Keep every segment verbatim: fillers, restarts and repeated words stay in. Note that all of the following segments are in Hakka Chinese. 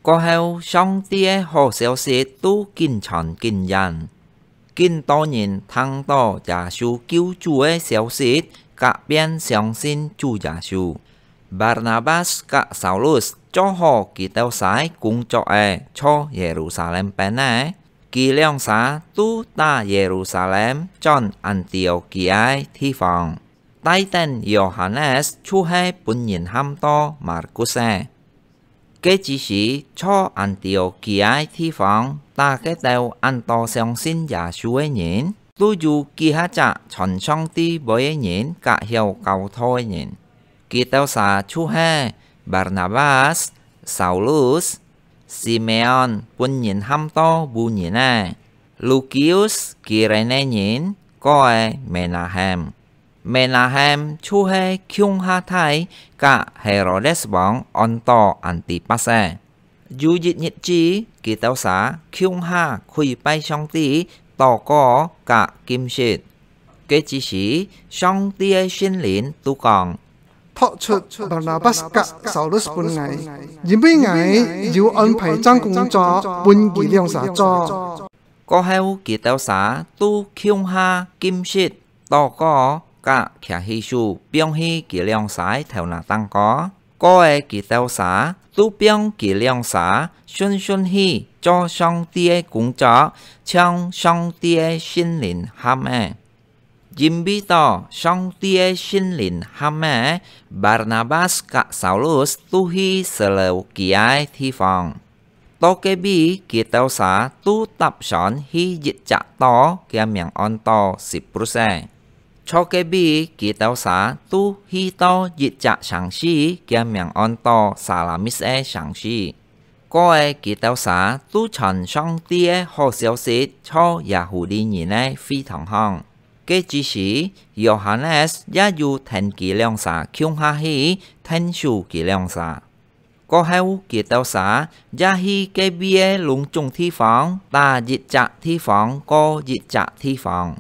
過後，上帝个好消息都緊傳緊延。 緊多人聽到耶穌救主个消息，甲便相信主耶穌。Barnabas甲Saulus做好佢兜儕工作个，在耶路撒冷邊仔。佢兩儕都打耶路撒冷轉安提阿基个地方，帶等Yohanes就係分人喊到Markus个。 該之時，在安提阿基个地方，打該兜恁多相信耶穌个人，都有幾下隻傳上帝話个人，甲曉教導个人。佢兜儕就係Barnabas、Saulus、Simeon，分人喊到烏人个、Lukius基renè人，哥个Menahem。 Menahem就係共下大甲Herodes王安到Antipas个。有一日子，佢兜儕共下跪拜上帝，禱告甲禁食。該之時，上帝个聖靈都講：「托出Barnabas甲Saulus分𠊎，因為𠊎有安排正工作分佢兩儕做。」過後，佢兜儕都共下禁食， 禱告甲擎起手放去佢兩儕頭那頂高。過个佢兜儕都放佢兩儕順順去做上帝个工作，像上帝个聖靈喊个。因為到上帝个聖靈喊个，Barnabas甲Saulus都去Seleukia个地方。 到該位，佢兜儕都搭船去一隻島，厥名安到Siprus个。在該位，佢兜儕都去到一隻城市，厥名安到Salamis个城市。過个佢兜儕都傳上帝个好消息在Yahudi人个會堂項。該之時，Yohanes也有跈佢兩儕共下去，𢯭手佢兩儕。 過後，佢兜儕也去該位个攏總地方，打一隻地方過一隻地方。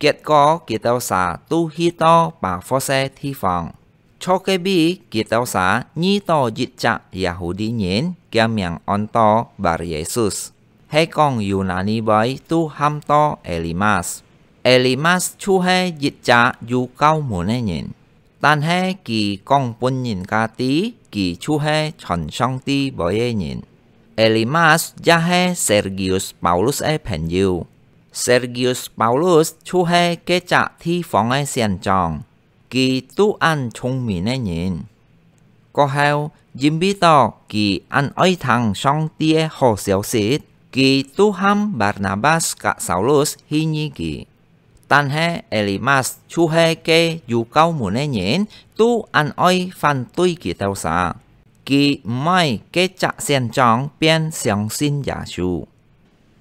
結果，佢兜儕都去到Pafos个地方。在該位，佢兜儕遇到一隻Yahudi人，厥名安到Bar-Yesus，係講Yunani話都喊到Elimas。Elimas就係一隻有教門个人。 但係佢講分人家知，佢就係傳上帝話个人。Elimas也係Sergius Paulus个朋友。Sergius Paulus就係該隻地方个縣長，佢都恁聰明个人。過後，因為到佢恁愛聽上帝个好消息，佢都喊Barnabas甲Saulus去遇佢。 但係Elimas就係該有教門个人，都恁愛反對佢兜儕。佢毋愛該隻縣長便相信耶穌。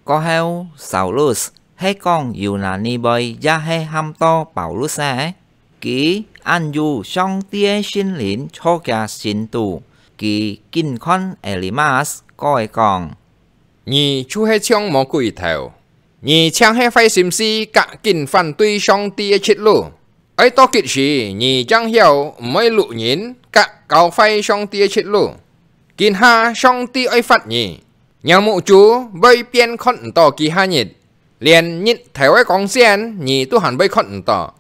過後，Saulus，係講Yunani話也係喊到Paulus个，佢恁有上帝个聖靈在厥心肚，佢緊看Elimas，過來講： 你就係像魔鬼頭！你淨係壞心思甲緊反對上帝个出路！愛到幾時，你正曉毋愛摝人甲搞壞上帝个出路？今下上帝愛罰你，若目珠會變看毋到幾下日，連日頭个光線你都還會看毋到。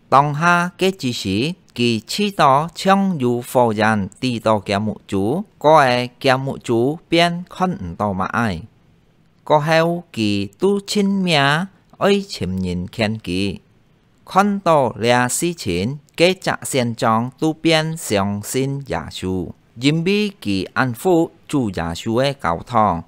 當下該之時，佢試著像有火焰滴到厥目珠，過个厥目珠便看毋到麼个。過後，佢都盡命愛尋人勸佢。看到這事情，該隻縣長都便相信耶穌，因為佢恁服主耶穌个教堂，